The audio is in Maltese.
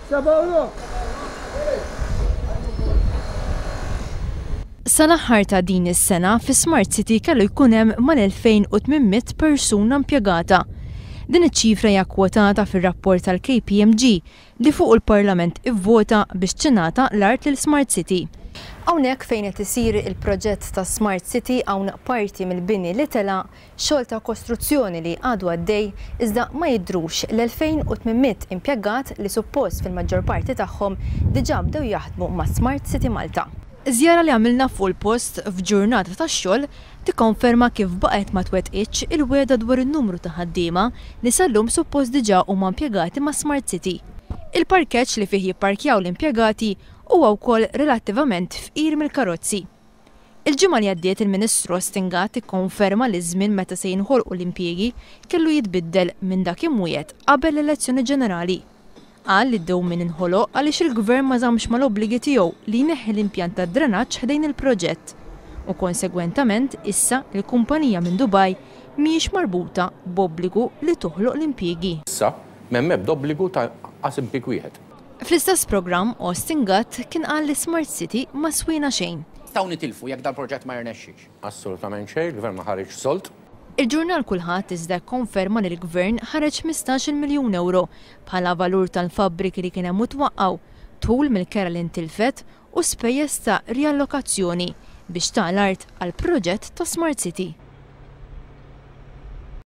7:30. Sal-aħħar ta' din is-sena fi Smart City kellu jkun hemm mal-2,800 persuna impjegata. Din iċ-ċifra hija kkwotata fir-rapport tal-KPMG li fuqu l-Parlament ivvota biex tingħata l-art lil Smart City. Hawnhekk fejn qed isir il-proġett ta' Smart City hawn parti mill-bini li tela' xogħol ta' kostruzzjoni li għadu għaddej iżda ma jidhrux l-2,800 impjegat li suppost fil-maġġor parti tagħhom diġà bdew jaħdmu ma' Smart City Malta. Żjara li għamilna fuq il-post f'ġurnata ta' xogħol tikkonferma kif baqgħet ma twettqitx il-wegħda dwar in-numru ta' ħaddiema li sal-lum suppost diġà huma impjegati ma' Smart City. Il-parkeġġ li fih jipparkjaw l-impjegati huwa wkoll relattivament fqir mill-karozzi. Il-ġimgħa li għaddiet il-Ministru Austin Gatt ikkonferma li ż-żmien meta se jinħolqu l-impjiegi kellu jitbiddel minn dak imwiegħed qabel l-elezzjoni ġenerali. Qal li d-dewmien inħoloq għaliex il-Gvern ma żammx mal-obbligi tiegħu li jneħħi l-impjant tad-drenaġġ ħdejn il-proġett u konsegwentament issa l-kumpanija minn Dubai mhijiex marbuta b'obbligu li toħloq l-impjiegi. Issa m'hemm ebda obbligu ta' qas impieg wieħed. Fl-istess programm, Austin Gatt kien qal li Smart City ma swiena xejn. Nistgħu nitilfu jekk dal-proġett ma jirnexxix? Assolutament xejn, il-Gvern ma ħariġx sold. Il-ġurnal Kulħadd iżda kkonferma li l-Gvern ħareġ 15-il miljun ewro bħala valur tal-fabbriki li kien hemm u twaqqgħu, dħul mill-kera li ntilfet u spejjeż ta' riallokazzjoni biex ta l-art għall-proġett ta' Smart City.